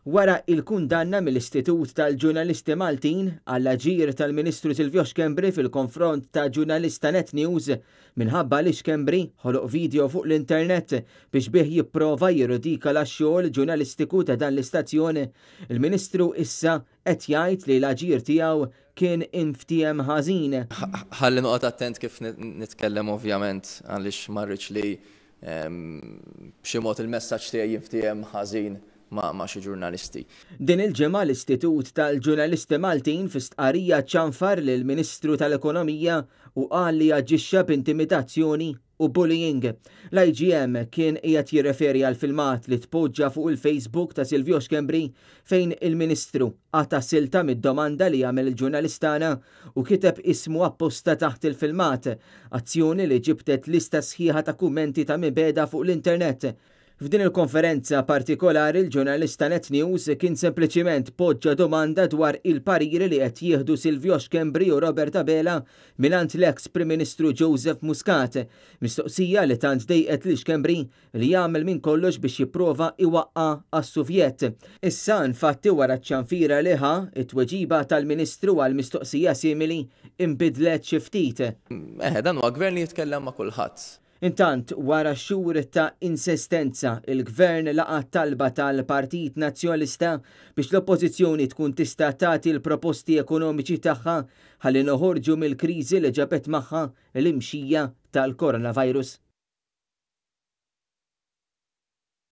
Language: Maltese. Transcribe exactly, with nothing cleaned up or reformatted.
Wara il-kundanna mill-Istitut tal-Ġurnalisti Maltin għall-aġir tal-Ministru Silvio Schembri fil-konfront ta' ġurnalista Net News minħabba li Schembri ħoloq video fuq l-internet biex bih jipprova jirridikola x-xogħol ġurnalistiku ta' dan l-istazzjon, il-Ministru issa qed jgħid li l-aġir tiegħu kien inftiehem ħażin. Ħalli noqgħod attent kif nitkellem ovvjament, għaliex ma rridx li b'xi mod il-messaġġ tiegħi jinftiehem ħażin ma', ma' xi ġurnalisti. Din il-ġimgħa l-Istitut tal-Ġurnalisti Maltin fi stqarrija ċanfar lill-Ministru tal-Ekonomija u qal li aġixxa b'intimidazzjoni u bullying. L-I G M kien qiegħed jirreferi għal filmat li tpoġġa fuq il-Facebook ta' Silvio Schembri fejn il-Ministru qata' silta mid-domanda li għamel il-ġurnalistana u kiteb ismu apposta taħt il-filmat, azzjoni li ġibtet lista sħiħa ta' kummenti ta' mibegħda fuq l-internet. F'din il-konferenza partikolari l-ġurnalista Net News kien sempliċiment poġġa domanda dwar il-pariri li qed jieħdu Silvio Schembri u Robert Abela mingħand l-eks Prim Ministru Joseph Muscat, mistoqsija li tant dejqet lil Schembri li jagħmel minn kollox biex jipprova iwaqqa' għas-Suvjet. Issa infatti wara ċ-ċanfira li ħa, it-tweġiba tal-Ministru għal mistoqsija simili inbidlet xi ftit. Eħe, dan huwa gvern li jitkellem ma' kulħadd. Intant, wara xhur ta' insistenza, il-Gvern laqa' talba tal-Partit Nazzjonalista biex l-Oppożizzjoni tkun tista' tagħti l-proposti ekonomiċi tagħha ħalli noħorġu mill-kriżi li ġabet magħha l-imxija tal-coronavirus.